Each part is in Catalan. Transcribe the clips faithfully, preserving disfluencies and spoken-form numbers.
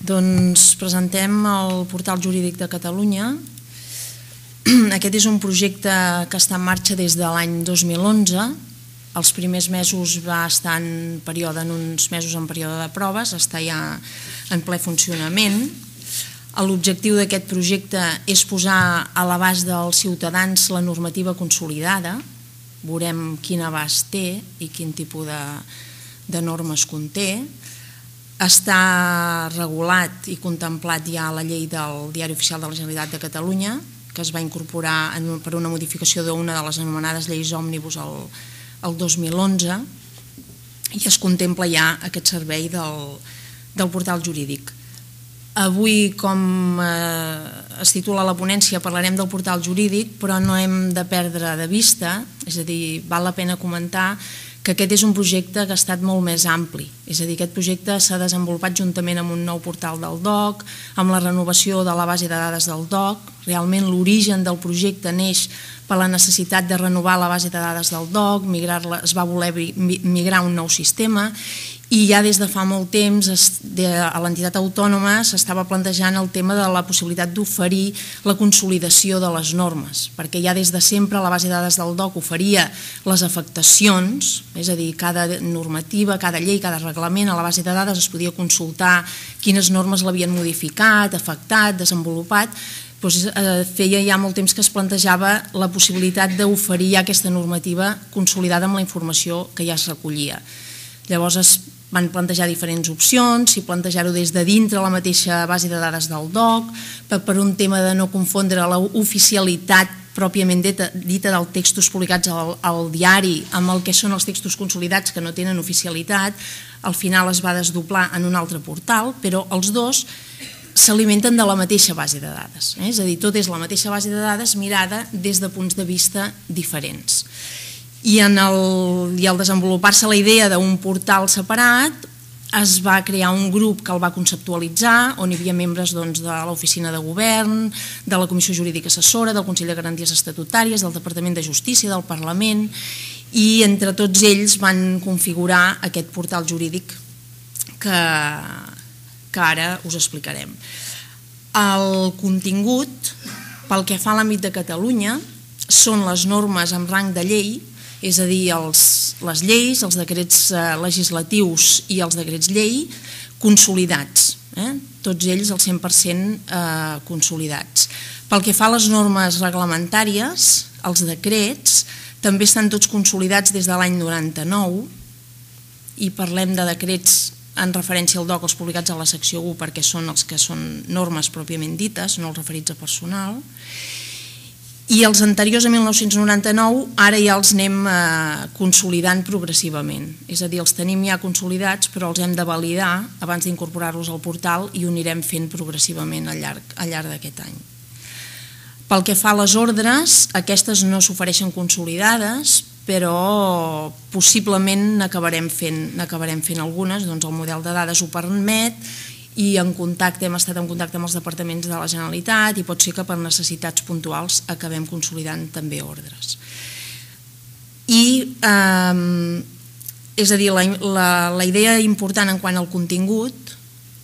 Doncs presentem el Portal Jurídic de Catalunya. Aquest és un projecte que està en marxa des de l'any dos mil onze. Els primers mesos va estar en període, en uns mesos en període de proves, està ja en ple funcionament. L'objectiu d'aquest projecte és posar a l'abast dels ciutadans la normativa consolidada. Veurem quin abast té i quin tipus de, de normes conté. Està regulat i contemplat ja a la llei del Diari Oficial de la Generalitat de Catalunya, que es va incorporar en, per una modificació d'una de les anomenades lleis òmnibus el, el dos mil onze, i es contempla ja aquest servei del, del portal jurídic. Avui, com eh, es titula la ponència, parlarem del portal jurídic, però no hem de perdre de vista, és a dir, val la pena comentar que aquest és un projecte que ha estat molt més ampli. És a dir, aquest projecte s'ha desenvolupat juntament amb un nou portal del D O C, amb la renovació de la base de dades del D O C. Realment l'origen del projecte neix per la necessitat de renovar la base de dades del D O C, migrar-la, es va voler migrar a un nou sistema, i ja des de fa molt temps a l'entitat autònoma s'estava plantejant el tema de la possibilitat d'oferir la consolidació de les normes, perquè ja des de sempre la base de dades del D O C oferia les afectacions, és a dir, cada normativa, cada llei, cada reglament a la base de dades es podia consultar quines normes l'havien modificat, afectat, desenvolupat. Doncs feia ja molt temps que es plantejava la possibilitat d'oferir ja aquesta normativa consolidada amb la informació que ja es recollia. Llavors es van plantejar diferents opcions, si plantejar-ho des de dintre la mateixa base de dades del D O C, per un tema de no confondre l'oficialitat pròpiament dita dels textos publicats al, al diari amb el que són els textos consolidats que no tenen oficialitat. Al final es va desdoblar en un altre portal, però els dos s'alimenten de la mateixa base de dades. Eh? És a dir, tot és la mateixa base de dades mirada des de punts de vista diferents. I en el, i al desenvolupar-se la idea d'un portal separat, es va crear un grup que el va conceptualitzar, on hi havia membres doncs, de l'Oficina de Govern, de la Comissió Jurídica Assessora, del Consell de Garanties Estatutàries, del Departament de Justícia, del Parlament, i entre tots ells van configurar aquest portal jurídic que, que ara us explicarem. El contingut, pel que fa a l'àmbit de Catalunya, són les normes amb rang de llei, és a dir, els, les lleis, els decrets legislatius i els decrets llei consolidats, eh? Tots ells al cent per cent eh, consolidats. Pel que fa a les normes reglamentàries, els decrets també estan tots consolidats des de l'any noranta-nou, i parlem de decrets en referència al D O C, els publicats a la secció u, perquè són els que són normes pròpiament dites, no els referits a personal. I els anteriors a mil nou-cents noranta-nou ara ja els anem consolidant progressivament, és a dir, els tenim ja consolidats però els hem de validar abans d'incorporar-los al portal i ho anirem fent progressivament al llarg, al llarg d'aquest any. Pel que fa a les ordres, aquestes no s'ofereixen consolidades, però possiblement n'acabarem fent, n'acabarem fent algunes, doncs el model de dades ho permet, i en contacte, hem estat en contacte amb els departaments de la Generalitat i pot ser que per necessitats puntuals acabem consolidant també ordres. I, eh, és a dir, la, la, la idea important en quant al contingut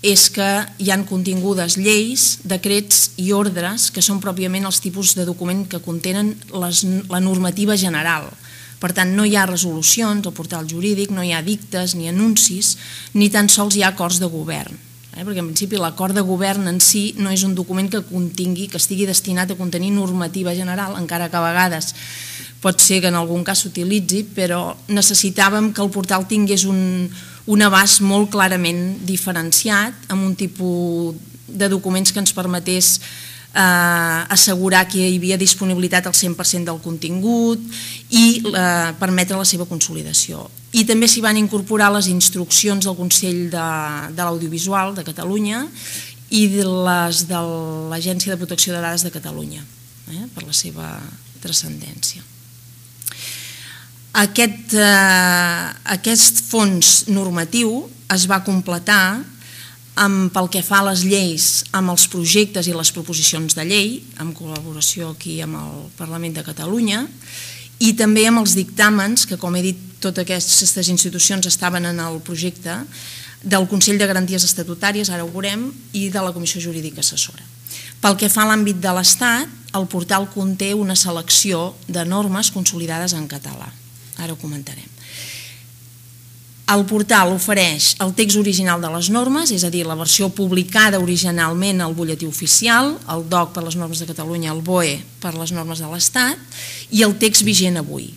és que hi han contingudes lleis, decrets i ordres que són pròpiament els tipus de document que contenen les, la normativa general. Per tant, no hi ha resolucions al portal jurídic, no hi ha dictes ni anuncis, ni tan sols hi ha acords de govern. Perquè en principi l'acord de govern en si no és un document que contingui, que estigui destinat a contenir normativa general, encara que a vegades pot ser que en algun cas s'utilitzi, però necessitàvem que el portal tingués un, un abast molt clarament diferenciat, amb un tipus de documents que ens permetés eh, assegurar que hi havia disponibilitat al cent per cent del contingut i eh, permetre la seva consolidació. I també s'hi van incorporar les instruccions del Consell de, de l'Audiovisual de Catalunya i de les de l'Agència de Protecció de Dades de Catalunya, eh, per la seva transcendència. Aquest, eh, aquest fons normatiu es va completar amb, pel que fa a les lleis, amb els projectes i les proposicions de llei, en col·laboració aquí amb el Parlament de Catalunya, i també amb els dictàmens, que com he dit, totes aquestes institucions estaven en el projecte, del Consell de Garanties Estatutàries, ara ho veurem, i de la Comissió Jurídica Assessora. Pel que fa a l'àmbit de l'Estat, el portal conté una selecció de normes consolidades en català. Ara ho comentarem. El portal ofereix el text original de les normes, és a dir, la versió publicada originalment al butlletí oficial, el D O C per les normes de Catalunya, el B O E per les normes de l'Estat, i el text vigent avui.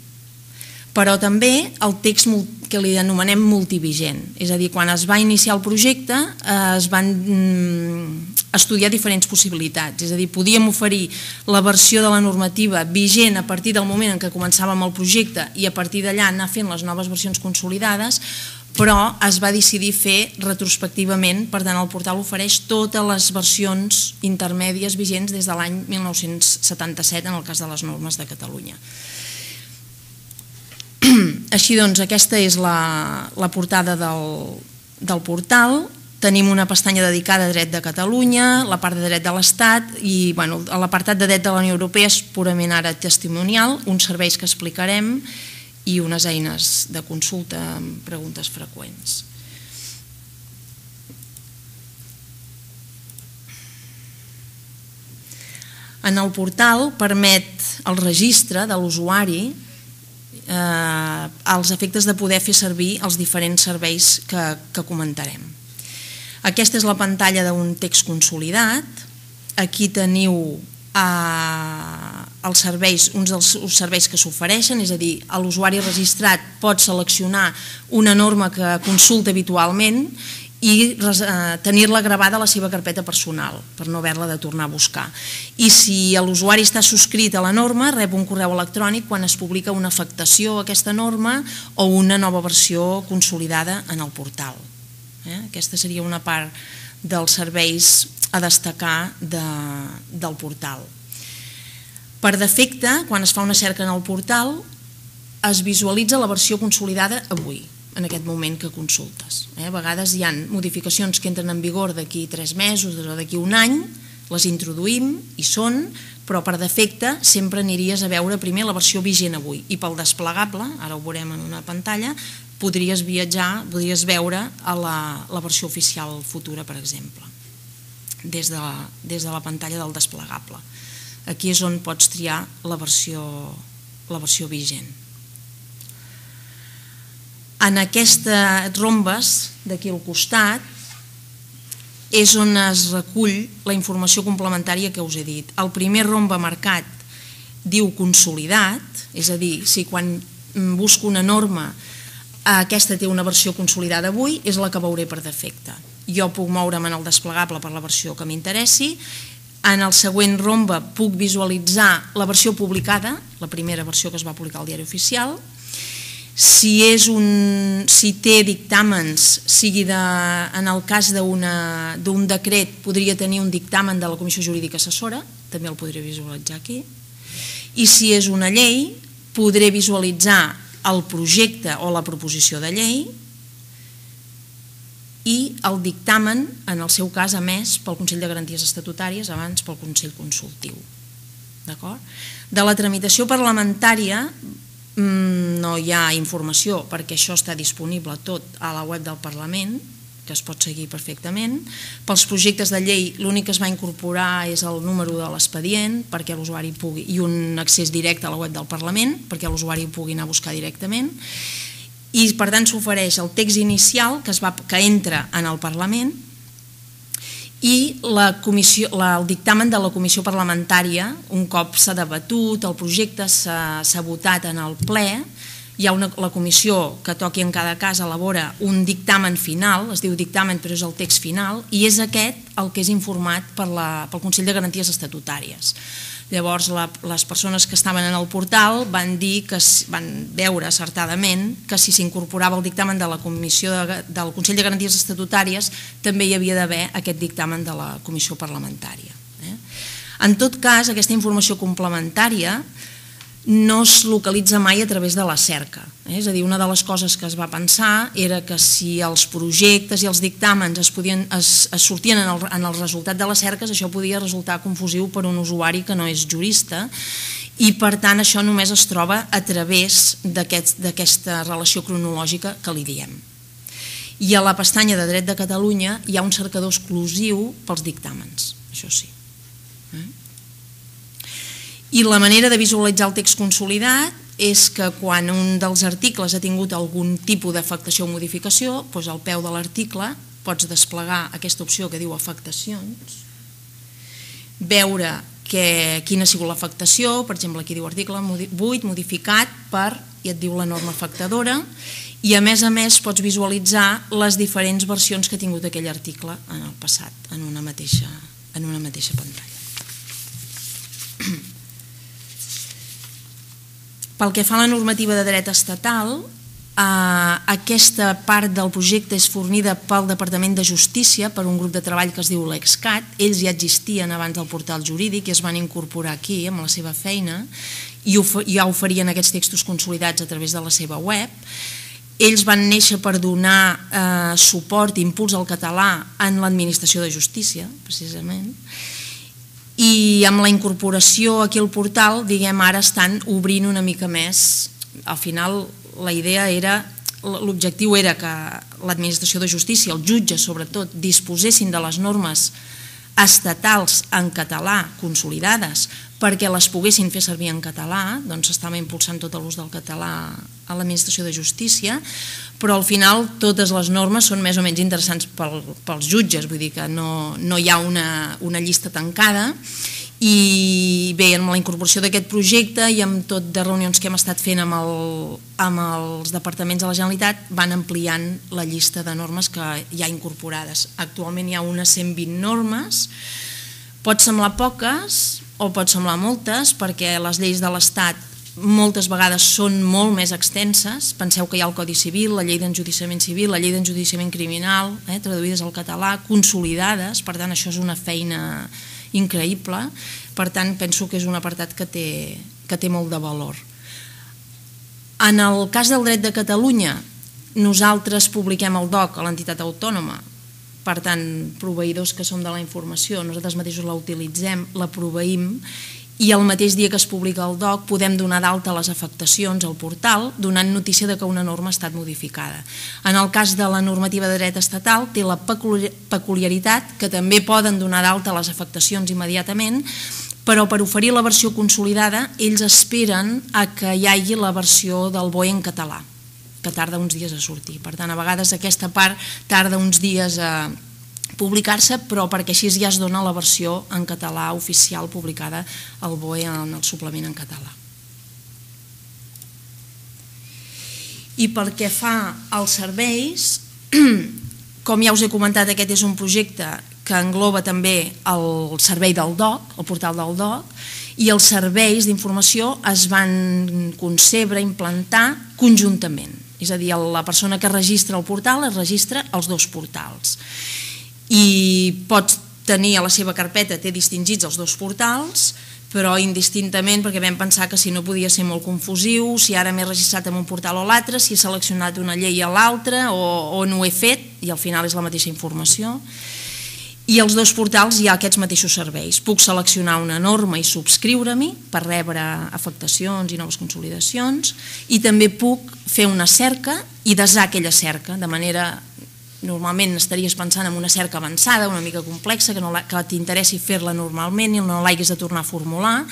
Però també el text que li anomenem multivigent, és a dir, quan es va iniciar el projecte es van estudiar diferents possibilitats, és a dir, podíem oferir la versió de la normativa vigent a partir del moment en què començàvem el projecte i a partir d'allà anar fent les noves versions consolidades, però es va decidir fer retrospectivament, per tant el portal ofereix totes les versions intermèdies vigents des de l'any mil nou-cents setanta-set en el cas de les normes de Catalunya. Així doncs, aquesta és la, la portada del, del portal. Tenim una pestanya dedicada a dret de Catalunya, la part de dret de l'Estat i bueno, l'apartat de dret de la Unió Europea és purament ara testimonial, uns serveis que explicarem i unes eines de consulta amb preguntes freqüents. En el portal permet el registre de l'usuari Eh, als efectes de poder fer servir els diferents serveis que, que comentarem. Aquesta és la pantalla d'un text consolidat. Aquí teniu eh, els serveis, uns dels serveis que s'ofereixen, és a dir, l'usuari registrat pot seleccionar una norma que consulta habitualment i tenir-la gravada a la seva carpeta personal per no haver-la de tornar a buscar. I si l'usuari està subscrit a la norma, rep un correu electrònic quan es publica una afectació a aquesta norma o una nova versió consolidada en el portal. Aquesta seria una part dels serveis a destacar del portal. Per defecte, quan es fa una cerca en el portal, es visualitza la versió consolidada avui, en aquest moment que consultes. A vegades hi ha modificacions que entren en vigor d'aquí tres mesos o d'aquí un any, les introduïm i són, però per defecte sempre aniries a veure primer la versió vigent avui i pel desplegable, ara ho veurem en una pantalla, podries viatjar, podries veure a la, la versió oficial futura, per exemple, des de, des de la pantalla del desplegable. Aquí és on pots triar la versió, la versió vigent. En aquestes rombes d'aquí al costat és on es recull la informació complementària que us he dit. El primer rombe marcat diu consolidat, és a dir, si quan busco una norma aquesta té una versió consolidada avui, és la que veuré per defecte. Jo puc moure'm en el desplegable per la versió que m'interessi. En el següent rombe puc visualitzar la versió publicada, la primera versió que es va publicar al Diari Oficial. Si, és un, si té dictàmens, sigui de, en el cas d'un decret, podria tenir un dictamen de la Comissió Jurídica Assessora, també el podré visualitzar aquí. I si és una llei, podré visualitzar el projecte o la proposició de llei i el dictamen, en el seu cas, emès pel Consell de Garanties Estatutàries, abans pel Consell Consultiu. De la tramitació parlamentària no hi ha informació perquè això està disponible tot a la web del Parlament, que es pot seguir perfectament. Pels projectes de llei l'únic que es va incorporar és el número de l'expedient perquè l'usuari pugui, i un accés directe a la web del Parlament perquè l'usuari pugui anar a buscar directament. I per tant s'ofereix el text inicial que, es va, que entra en el Parlament i la comissió, la, el dictamen de la comissió parlamentària, un cop s'ha debatut, el projecte s'ha votat en el ple, hi ha una, la comissió que toqui en cada cas elabora un dictamen final, es diu dictamen però és el text final, i és aquest el que és informat per la, pel Consell de Garanties Estatutàries. Llavors la, les persones que estaven en el portal van dir que van veure acertadament que si s'incorporava el dictamen de la comissió de, del Consell de Garanties Estatutàries també hi havia d'haver aquest dictamen de la comissió parlamentària. Eh? En tot cas, aquesta informació complementària no es localitza mai a través de la cerca. Eh? És a dir, una de les coses que es va pensar era que si els projectes i els dictàmens es, podien, es, es sortien en el, en el resultat de les cerques, això podia resultar confusiu per un usuari que no és jurista i per tant això només es troba a través d'aquesta relació cronològica que li diem. I a la pestanya de Dret de Catalunya hi ha un cercador exclusiu pels dictàmens, això sí. I la manera de visualitzar el text consolidat és que quan un dels articles ha tingut algun tipus d'afectació o modificació, doncs al peu de l'article pots desplegar aquesta opció que diu afectacions, veure que, quina ha sigut l'afectació, per exemple aquí diu article vuit modificat per, i et diu la norma afectadora, i a més a més pots visualitzar les diferents versions que ha tingut aquell article en el passat, en una mateixa, en una mateixa pantalla. Pel que fa a la normativa de dret estatal, aquesta part del projecte és fornida pel Departament de Justícia per un grup de treball que es diu l'EXCAT. Ells ja existien abans del portal jurídic i es van incorporar aquí amb la seva feina i ja oferien aquests textos consolidats a través de la seva web. Ells van néixer per donar suport i impuls al català en l'administració de justícia, precisament, i amb la incorporació aquí al portal, diguem, ara estan obrint una mica més. Al final la idea era, l'objectiu era que l'administració de justícia, els jutges sobretot, disposessin de les normes estatals en català consolidades perquè les poguessin fer servir en català, doncs s'estava impulsant tot l'ús del català a l'administració de justícia, però al final totes les normes són més o menys interessants pels jutges, vull dir que no hi ha una llista tancada. I bé, amb la incorporació d'aquest projecte i amb tot de reunions que hem estat fent amb els departaments de la Generalitat van ampliant la llista de normes que hi ha incorporades. Actualment hi ha unes cent vint normes, pot semblar poques o pot semblar moltes perquè les lleis de l'Estat moltes vegades són molt més extenses. Penseu que hi ha el Codi Civil, la Llei d'Enjudiciament Civil, la Llei d'Enjudiciament Criminal, traduïdes al català, consolidades, per tant això és una feina increïble, per tant penso que és un apartat que té molt de valor. En el cas del dret de Catalunya, nosaltres publiquem el D O C a l'entitat autònoma, per tant, proveïdors que som de la informació, nosaltres mateixos la utilitzem, la proveïm, i el mateix dia que es publica el D O C podem donar d'alta les afectacions al portal donant notícia de que una norma ha estat modificada. En el cas de la normativa de dret estatal té la peculiaritat que també poden donar d'alta les afectacions immediatament, però per oferir la versió consolidada ells esperen a que hi hagi la versió del B O E en català, que tarda uns dies a sortir. Per tant, a vegades aquesta part tarda uns dies a publicar-se, però perquè així ja es dona la versió en català oficial publicada al B O E en el suplement en català. I pel que fa als serveis, com ja us he comentat, aquest és un projecte que engloba també el servei del D O C, el portal del D O C, i els serveis d'informació es van concebre, implantar conjuntament. És a dir, la persona que registra el portal es registra als dos portals. I pot tenir a la seva carpeta, té distingits els dos portals, però indistintament, perquè vam pensar que si no podia ser molt confusiu, si ara m'he registrat en un portal o l'altre, si he seleccionat una llei a l'altra o no ho he fet, i al final és la mateixa informació. I als dos portals hi ha aquests mateixos serveis. Puc seleccionar una norma i subscriure-m'hi per rebre afectacions i noves consolidacions, i també puc fer una cerca i desar aquella cerca, de manera... Normalment estaries pensant en una cerca avançada, una mica complexa, que t'interessi fer-la normalment i no l'haguis de tornar a formular,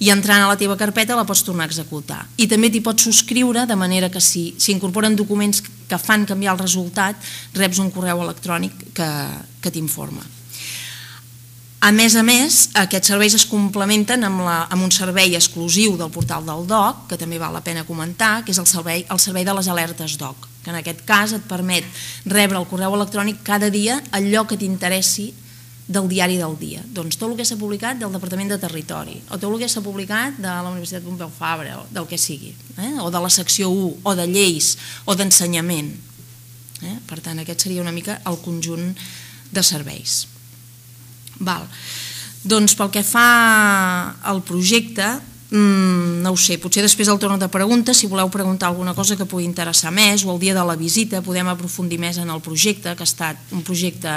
i entrant a la teva carpeta la pots tornar a executar. I també t'hi pots subscriure, de manera que si s'incorporen documents que fan canviar el resultat, reps un correu electrònic que t'informa. A més a més, aquests serveis es complementen amb un servei exclusiu del portal del D O C, que també val la pena comentar, que és el servei de les alertes D O C, que en aquest cas et permet rebre el correu electrònic cada dia allò que t'interessi del diari del dia. Doncs tot el que s'ha publicat del Departament de Territori, o tot el que s'ha publicat de la Universitat Pompeu Fabra, o del que sigui, o de la secció u, o de lleis, o d'ensenyament. Per tant, aquest seria una mica el conjunt de serveis. Doncs pel que fa al projecte, no ho sé, potser després al torn de preguntes, si voleu preguntar alguna cosa que pugui interessar més, o el dia de la visita podem aprofundir més en el projecte, que ha estat un projecte,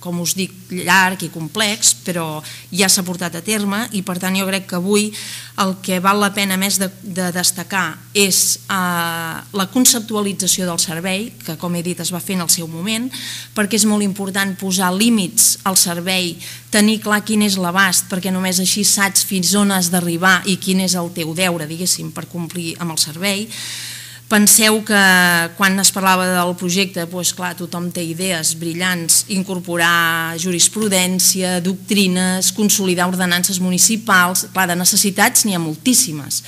com us dic, llarg i complex, però ja s'ha portat a terme, i per tant jo crec que avui el que val la pena més de, de destacar és eh, la conceptualització del servei, que com he dit es va fer en el seu moment, perquè és molt important posar límits al servei, tenir clar quin és l'abast, perquè només així saps fins on has d'arribar i quin és el teu deure, diguéssim, per complir amb el servei. Penseu que quan es parlava del projecte, doncs clar, tothom té idees brillants, incorporar jurisprudència, doctrines, consolidar ordenances municipals, clar, de necessitats n'hi ha moltíssimes,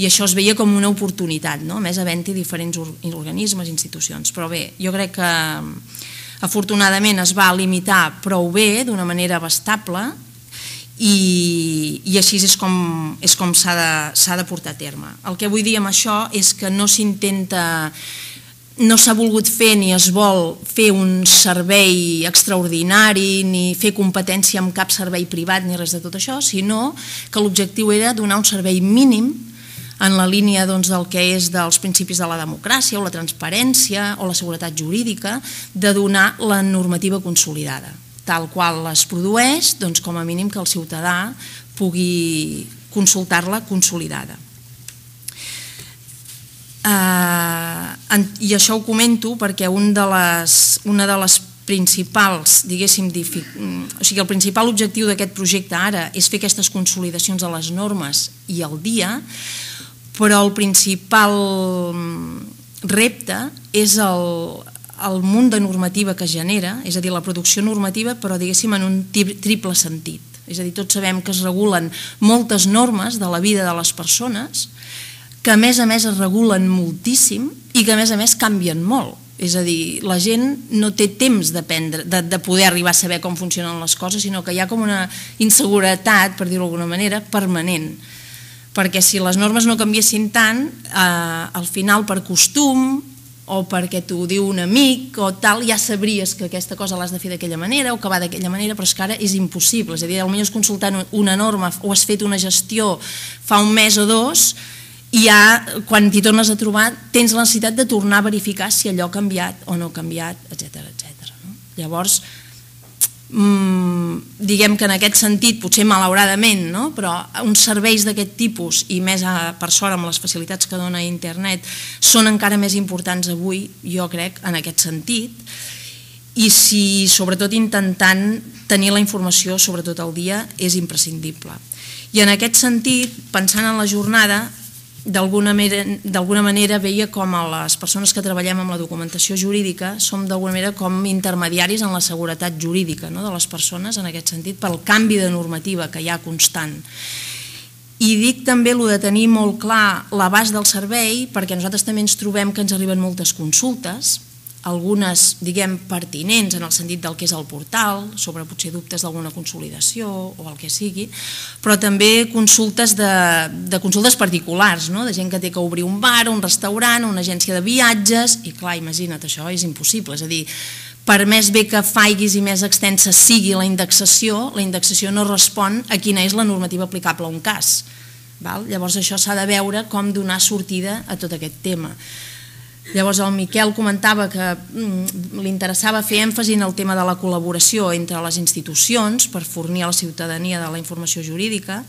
i això es veia com una oportunitat, no? A més havent-hi diferents organismes, institucions, però bé, jo crec que afortunadament es va limitar prou bé, d'una manera abastable, i, i així és com, és com s'ha de, s'ha de portar a terme. El que vull dir amb això és que no s'intenta, no s'ha volgut fer ni es vol fer un servei extraordinari, ni fer competència amb cap servei privat, ni res de tot això, sinó que l'objectiu era donar un servei mínim en la línia doncs, del que és dels principis de la democràcia o la transparència o la seguretat jurídica, de donar la normativa consolidada, tal qual es produeix, doncs, com a mínim que el ciutadà pugui consultar-la consolidada. Uh, I això ho comento perquè un de les, una de les principals, diguéssim, o sigui, el principal objectiu d'aquest projecte ara és fer aquestes consolidacions de les normes i al dia, però el principal repte és el, el munt de normativa que genera, és a dir, la producció normativa, però diguéssim en un triple sentit. És a dir, tots sabem que es regulen moltes normes de la vida de les persones, que a més a més es regulen moltíssim i que a més a més canvien molt. És a dir, la gent no té temps d'aprendre, de, de poder arribar a saber com funcionen les coses, sinó que hi ha com una inseguretat, per dir-ho d'alguna manera, permanent. Perquè si les normes no canviessin tant, eh, al final per costum o perquè t'ho diu un amic o tal, ja sabries que aquesta cosa l'has de fer d'aquella manera o que va d'aquella manera, però és que ara és impossible. És a dir, potser consultant una norma o has fet una gestió fa un mes o dos i ja quan t'hi tornes a trobar tens la necessitat de tornar a verificar si allò ha canviat o no ha canviat, etcètera, etcètera. Llavors, diguem que en aquest sentit, potser malauradament, no? Però uns serveis d'aquest tipus, i més per sort amb les facilitats que dona internet, són encara més importants avui, jo crec, en aquest sentit, i si sobretot intentant tenir la informació sobretot al dia és imprescindible. I en aquest sentit, pensant en la jornada, d'alguna manera veia com a les persones que treballem amb la documentació jurídica som d'alguna manera com intermediaris en la seguretat jurídica de les persones en aquest sentit pel canvi de normativa que hi ha constant. I dic també el de tenir molt clar l'abast del servei perquè nosaltres també ens trobem que ens arriben moltes consultes, algunes, diguem, pertinents en el sentit del que és el portal, sobre potser dubtes d'alguna consolidació o el que sigui, però també consultes de, de consultes particulars, no? De gent que té que obrir un bar, un restaurant, una agència de viatges, i clar, imagina't, això és impossible, és a dir, per més bé que faiguis i més extensa sigui la indexació, la indexació no respon a quina és la normativa aplicable a un cas. Val? Llavors això s'ha de veure com donar sortida a tot aquest tema. Llavors el Miquel comentava que li interessava fer èmfasi en el tema de la col·laboració entre les institucions per fornir a la ciutadania de la informació jurídica.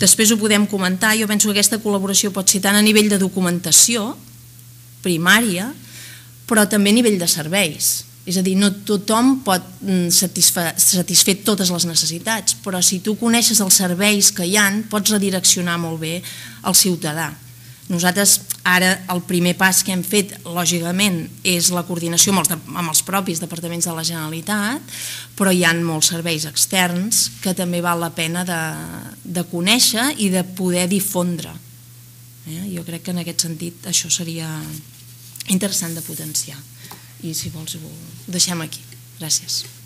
Després ho podem comentar, jo penso que aquesta col·laboració pot ser tant a nivell de documentació primària, però també a nivell de serveis. És a dir, no tothom pot satisfer totes les necessitats, però si tu coneixes els serveis que hi ha, pots redireccionar molt bé el ciutadà. Nosaltres ara el primer pas que hem fet, lògicament, és la coordinació amb els propis departaments de la Generalitat, però hi ha molts serveis externs que també val la pena de conèixer i de poder difondre. Jo crec que en aquest sentit això seria interessant de potenciar. I si vols ho deixem aquí. Gràcies.